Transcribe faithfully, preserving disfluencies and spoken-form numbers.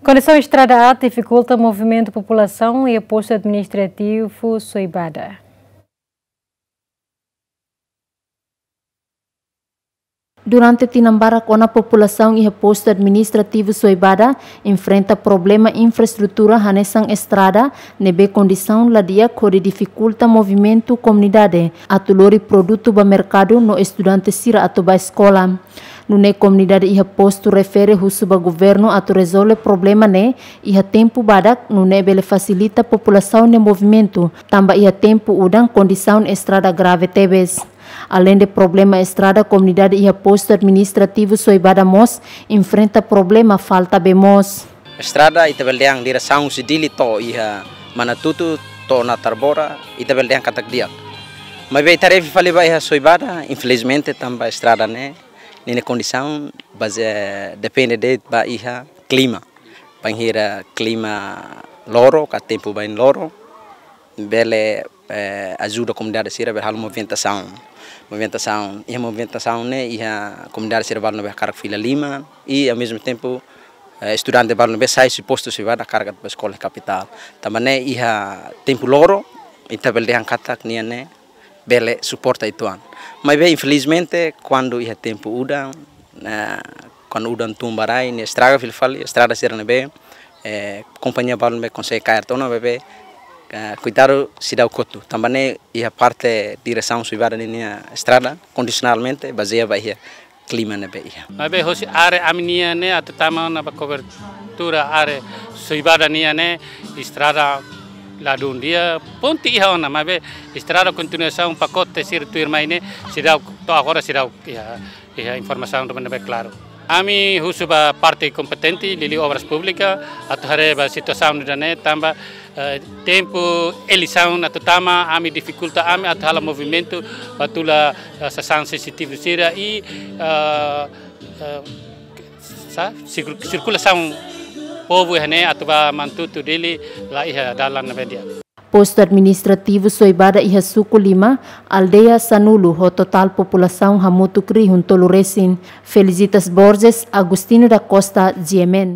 Kondisaun estrada aat difikulta movimentu populasaun iha postu administrativu Soibada. Durante tinan barak ona populasaun iha postu administrativu Soibada enfrenta problema infraestrutura hanesan estrada, ne'ebé kondisaun la di'ak hodi difikulta movimentu komunidade atu lori produtu ba merkadu no estudante sira atu ba eskola. Nune'e komunidade iha postu refere husu ba governu atu rezolve problema ne'e iha tempu badak, nune'e bele fasilita populasaun nia movimentu, tanba iha tempu udan kondisaun estrada grave tebes. Aleinde problema estrada, komunidade iha postu administrativu Soibada mós enfrenta problema falta bee moos. Estrada ita bele dehan diresaun husi Dili to'o iha Manatutu to'o Natarbora, ita bele dehan katak di'ak. Maibé ita refere fali ba iha Soibada, infelizmente tanba estrada ne'e, ninia kondisaun baze-, depende de'it ba iha klima. Bainhira klima loro, ka tempu bain loro, bele, eh, ajuda komunidade sira bele halo movimentasaun. Movimentasaun, iha movimentasaun ne'e, iha komunidade sira balu ne'ebé hakarak fila liman, i ao mesmo tempo, eh, estudante balu ne'ebé sai husi postu Soibada hakarak atu ba eskola iha kapitál. Tanba ne'e iha tempu loro, ita bele dehan katak nian ne'e bele suporta uitoan. Maibé infelizmente kuandu iha tempu udan, eh, kuandu udan tun ba rai, ne'e estraga fila fali, estrada sira ne'ebé, eh, kompañia balu ne'ebé konsege kaer tiha ona, maibé, eh, kuidadu seidauk kotu. Tanba ne'e iha parte diresaun Soibada ninia estrada kondisionalmente bazeia ba iha klima ne'ebé iha. Maibé hosi área ami-nian ne'e atu tama ona ba kobertura área Soibada nian ne'e estrada ladún di'ak, ponte iha ona, maibé estrada kontinuasaun pakote sira tuirmai ne'e seidauk, to'o agora seidauk iha, iha informasaun ne'ebé klaru. Ami husu ba parte kompetente, liuliu Obras Públikas, atu haree ba situasaun ida-ne'e tanba, eh, tempu eleisaun atu tama, ami difikulta ami atu halo movimentu, ba tula, eh, sasán sensitivu sira i, eh, eh, sa-, sirku-, sirkulasaun povu iha ne'e atu ba Manatutu Dili la iha dalan ne'ebé di'ak. Postu administrativu Soibada iha suku lima, aldeia sanulu, ho totál populasaun hamutuk rihun tolu resin. Felicitas Borges, Agostinho da Costa, G M N.